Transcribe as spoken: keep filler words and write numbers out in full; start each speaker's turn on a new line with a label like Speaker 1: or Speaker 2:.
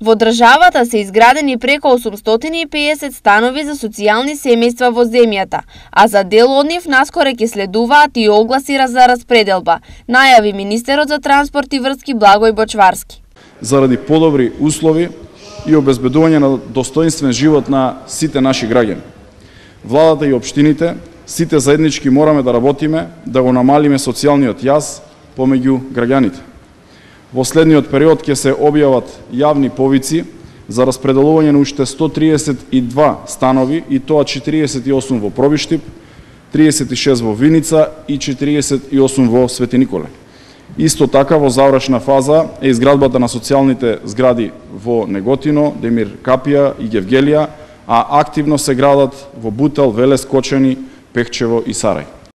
Speaker 1: Во државата се изградени преку осумстотини и песет станови за социјални семејства во земјата, а за дел од нив наскоро ќе следуваат и огласи за распределба, најави министерот за транспорт и врски Благој Бочварски.
Speaker 2: Заради подобри услови и обезбедување на достоинствен живот на сите наши граѓани, владата и општините, сите заеднички мораме да работиме да го намалиме социјалниот јаз помеѓу граѓаните. Во следниот период ќе се објават јавни повици за распределување на уште сто триесет и два станови, и тоа четириесет и осум во Пробиштип, триесет и шест во Виница и четириесет и осум во Свети Николе. Исто така во завршна фаза е изградбата на социјалните згради во Неготино, Демир Капија и Гевгелија, а активно се градат во Бутел, Велес, Кочани, Пехчево и Сарај.